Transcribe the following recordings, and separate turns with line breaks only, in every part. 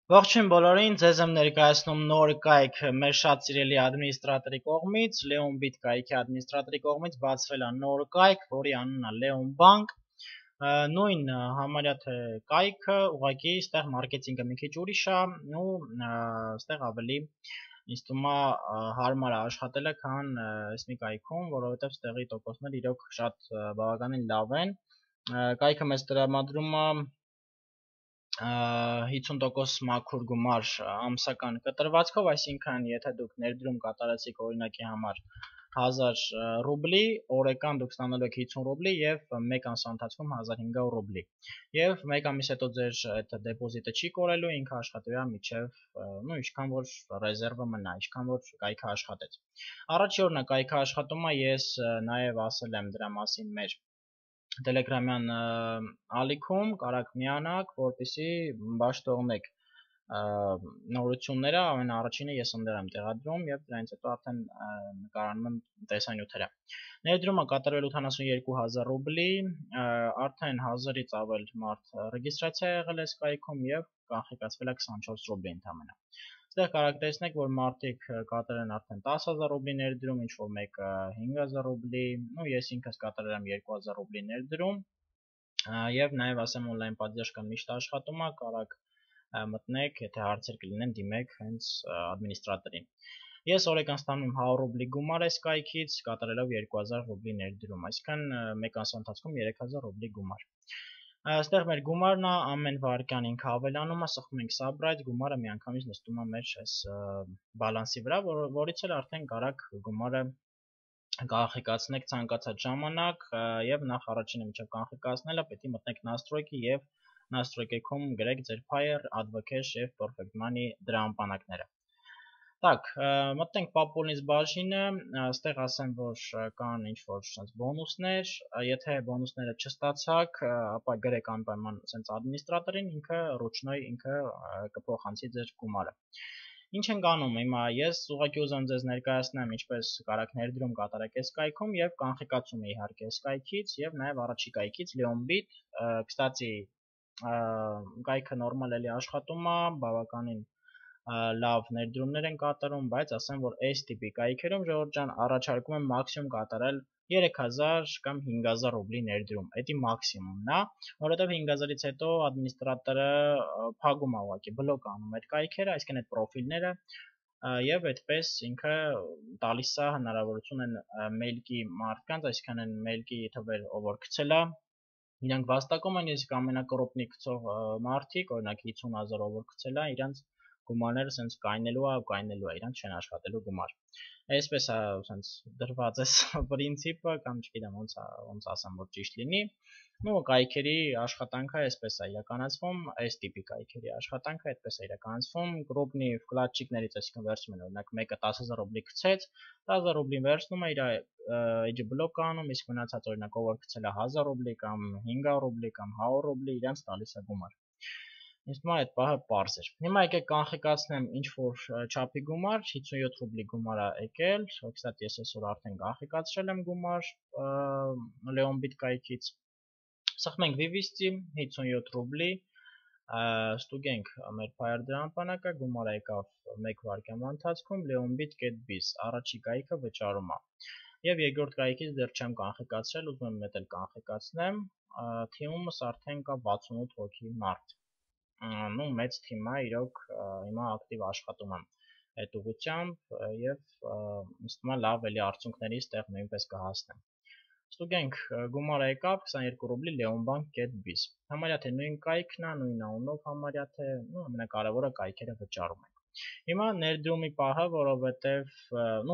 Ողջույն բոլորին, ձեզ եմ ներկայացնում նոր կայք մեր շատ սիրելի ադմինիստրատորի կողմից, Leonbit կայքի ադմինիստրատորի կողմից բացվել է նոր կայք, որի անունն է Leon Bank։ Նույն համարյա թե կայքը, ուղղակի այստեղ մարքեթինգը մի քիչ ուրիշ է, ու այստեղ ավելի ինձ թվում է հարմար է աշխատելը, քան այս մի կայքում, որովհետև այստեղի տոկոսները իրոք շատ բավականին լավ են։ Կայքը մեզ տրամադրում է 50% մաքուր գումար ամսական կտրվածքով, այսինքն եթե դուք ներդրում կատարեցիք օրինակի համար 1000 ռուբլի, օրական դուք ստանալու եք 50 ռուբլի եւ 1 ամսվա ընթացքում 1500 ռուբլի։ Եվ 1 ամիս հետո ձեր այդ դեպոզիտը չի կորելու, ինքը աշխատելու է մինչեւ, ինչքան որ ռեզերվը մնա, ինչքան որ կայքը աշխատեց։ Առաջի օրն է կայքը աշխատում է, ես նաեւ ասել եմ դրա մասին մեր Telegram-յան ալիքում, կարաք միանաք, որպեսզի բաց թողնեք նորությունները, ամենաառաջինը ես ընդդեմ եմ տեղադրում եւ դրանից հետո արդեն նկարանում եմ տեսանյութերը։ Ներդրումը կատարվել 82000 ռուբլի, արդեն 1000-ից ավել մարդ ռեգիստրացիա եղել է Skype-ում եւ կանխիկացվել է 24 ռուբլի ընդամենը։ Այստեղ կարաք տեսնեք, որ մարդիկ կատարել են արդեն 10000 ռուբլի ներդրում, ինչ որ մեկը 5000 ռուբլի, ես ինքս կատարել եմ 2000 ռուբլի ներդրում, եւ նաեւ ասեմ on-line պատժամիջը միշտ աշխատում է, կարաք մտնեք, եթե հարցեր կլինեն, դիմեք հենց ադմինիստրատորին։ Ես օրական ստանում եմ 100 ռուբլի գումար այս կայքից, կատարելով 2000 ռուբլի ներդրում, այսինքն մեկ ամսվա ընթացքում 3000 ռուբլի գումար։ Այստեղ մեր գումարն է, ամեն վայրկյան ինքը ավելանում է, սխում ենք Subbright, գումարը միանգամից նստում է մեր այս բալանսի վրա, որից էլ արդեն կարաք գումարը կանխիկացնեք ցանկացած ժամանակ, եւ նախ առաջինը միջև կանխիկացնելը պետք է մտնեք Настройки եւ Настройки-ում գրեք ձեր Fire, Advocash եւ Perfect Money դրամապանակները։ Так, մտնենք Պապուլնից բաժինը, այստեղ ասեմ, որ կան ինչ-որ sense բոնուսներ, եթե բոնուսները չստացաք, ապա գրեք անպայման sense ադմինիստրատորին, ինքը ռուչնոյ ինքը կփոխանցի ձեր գումարը։ Ինչ ենք անում, հիմա ես ուղղակի ուզում ձեզ ներկայացնեմ ինչպես կարաք ներդրում կատարեք այս կայքում եւ կանխիկացում իհարկե այս կայքից եւ նաեւ առաջի կայքից Leonbit, կստացի կայքը նորմալ էլի աշխատում է, բավականին լավ ներդրումներ են կատարում, բայց ասեմ, որ այս տիպի կայքերում ժողովուրդ ջան առաջարկում եմ մաքսիմում կատարել 3000 կամ 5000 ռուբլի ներդրում, դա մաքսիմումն է, որովհետև 5000-ից հետո ադմինիստրատորը փակում է ուղղակի բլոկ անում այդ կայքերը, այսինքն այդ պրոֆիլները եւ այդպես ինքը տալիս է հնարավորություն են մեյլկի մարդկանց, այսինքն այն մեյլկի թվեր ով որ գցել է, իրանք վաստակում են, իսկ ամենակրոպնի գցող մարդիկ, օրինակ 50000 ով որ գցել է, իրանք գումարները sense կայնելու է, իրանք չեն աշխատելու գումար։ Այսպես է sense դրված է պրինցիպը, կամ չգիտեմ ոնց ասեմ, որ ճիշտ լինի։ Կայքերի աշխատանքը այսպես է իրականացվում, այս տիպի կայքերի աշխատանքը այդպես է իրականացվում, կրոպնի վկլադչիկներից, այսինքն վերցնում են օրինակ մեկը 10000 ռուբլի գցեց, 10000 ռուբլին վերցնում է իր էջը բլոկ անում, իսկ մնացած օրինակ ով որ գցել է 1000 ռուբլի կամ 500 ռուբլի կամ 100 ռուբլի, իրանց տալիս է գումար։ Ինձ թվում է այդ պահը պարզ էր։ Հիմա եկեք կանխիկացնեմ ինչ որ չափի գումար, 57 ռուբլի գումար է եկել, կստати ես այսօր արդեն կանխիկացրել եմ գումար Leonbit կայքից։ Սխմենք Vivist-ի 57 ռուբլի, ստուգենք մեր Fire դրամապանակը, գումարը եկավ 1 վայրկյանվա ընթացքում Leonbit.biz, առաջի կայքը վճարում է։ Եվ երկրորդ կայքից դեռ չեմ կանխիկացրել, ուզում եմ մեկ էլ կանխիկացնեմ, թիմումս արդեն կա 68 հոգի մարդ։ Մեծ թիմ է, իրոք հիմա ակտիվ աշխատում եմ այդ ուղղությամբ եւ ինձ թվում է լավ էլի արդյունքների ստեղ նույնպես կհասնեմ։ Ստուգենք գումարը եկավ 22 ռուբլի leonbank.biz։ Համարյա թե նույն կայքն է, նույն անունով համարյա թե, ամենակարևորը կայքերը վճարում ենք։ Հիմա ներդրումի պահը, որովհետեւ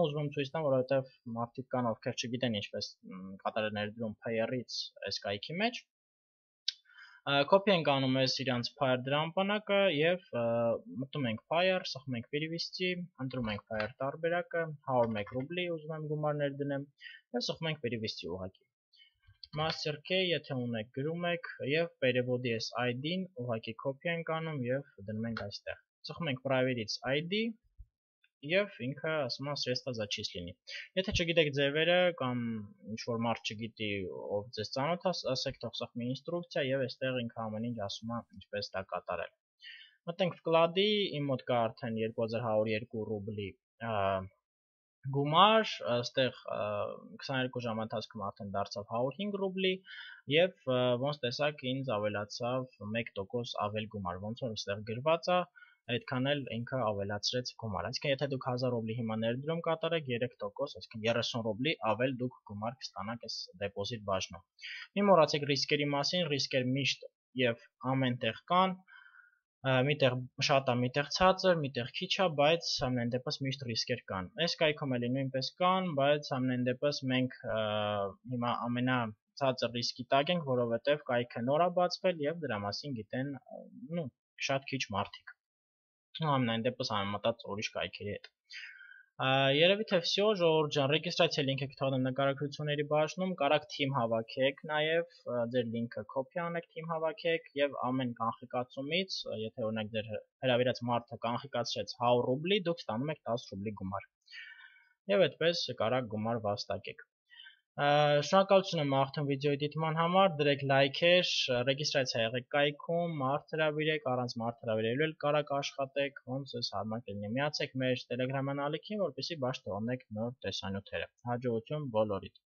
ուզում եմ ցույց տամ, որովհետեւ մարդիկ կան, ովքեր չգիտեն ինչպես կատարել ներդրում Payer-ից այս կայքի մեջ։ Copy ենք անում ես իրանց Fire դրամապանակը եւ մտնում ենք Fire, սխմում ենք Perivist-ի, ընտրում ենք Fire տարբերակը, 101 ռուբլի ուզում եմ գումար ներդնեմ եւ սխմում ենք Perivist-ի ուղղակի։ Master Key, եթե ունեք, գրում եք եւ Perevod-ի ID-ն ուղղակի copy ենք անում եւ դնում ենք այստեղ։ Սխմում ենք Private-ից ID եւ ինքը ասում է սредства зачисления։ Եթե չգիտեք ձևերը կամ ինչ որ մարդ չգիտի ով ձեզ ծանոթ է, ասեք թող սխմի ինստրուկցիա եւ այստեղ ինքը ամեն ինչ ասում է ինչպես դա կատարել։ Մտենք վկլադի, իմ մոտ կա արդեն 2102 ռուբլի գումար, այստեղ 22 ժամ ընթացքում արդեն դարձավ 105 ռուբլի եւ ոնց տեսակ ինձ ավելացավ 1% ավել գումար, ոնց որ այստեղ գրված է, այդքան էլ ինքը ավելացրեց գումար։ Այսինքն եթե դուք 1000 ռուբլի հիմա ներդրում կատարեք 3%, այսինքն 30 ռուբլի ավել դուք գումար կստանաք այս դեպոզիտ բաժնում։ Մի մոռացեք ռիսկերի մասին, ռիսկեր միշտ եւ ամենտեղ կան, միտեղ շատ է, միտեղ ցածր, միտեղ քիչ է, բայց ամեն դեպս միշտ ռիսկեր կան։ Այս կայքում էլի նույնպես կան, բայց ամեն դեպս մենք հիմա ամենացածր ռիսկի տակ ենք, որովհետև կայքը նոր է բացվել եւ դրա մասին գիտեն շատ քիչ մարդիկ։ Ամեն դեպս համեմատած ուրիշ կայքերի հետ։ Երևի թե всё, ժողովուրդ ջան, ռեգիստրացիա լինքը կթողնեմ նկարագրությունների բաժնում, կարաք թիմ հավաքեք, նաև ձեր լինքը կոպի անեք, թիմ հավաքեք եւ ամեն կանխիկացումից, եթե օրինակ ձեր հրավիրած մարդը կանխիկացրեց 100 ռուբլի, դուք ստանում եք 10 ռուբլի գումար։ Եվ այդպես կարաք գումար վաստակեք։ Շնորհակալություն եմ աղթում վիդեոյի դիտման համար, դրեք լայքեր, ռեգիստրացիա եղեք կայքում, մարդ հրավիրեք, առանց մարդ հրավիրելու էլ կարաք աշխատեք, ոնց ձեզ հարմար կլինի։ Միացեք մեր Telegram ալիքին, որպեսզի բաց թողնեք նոր տեսանյութերը։ Հաջողություն բոլորիդ։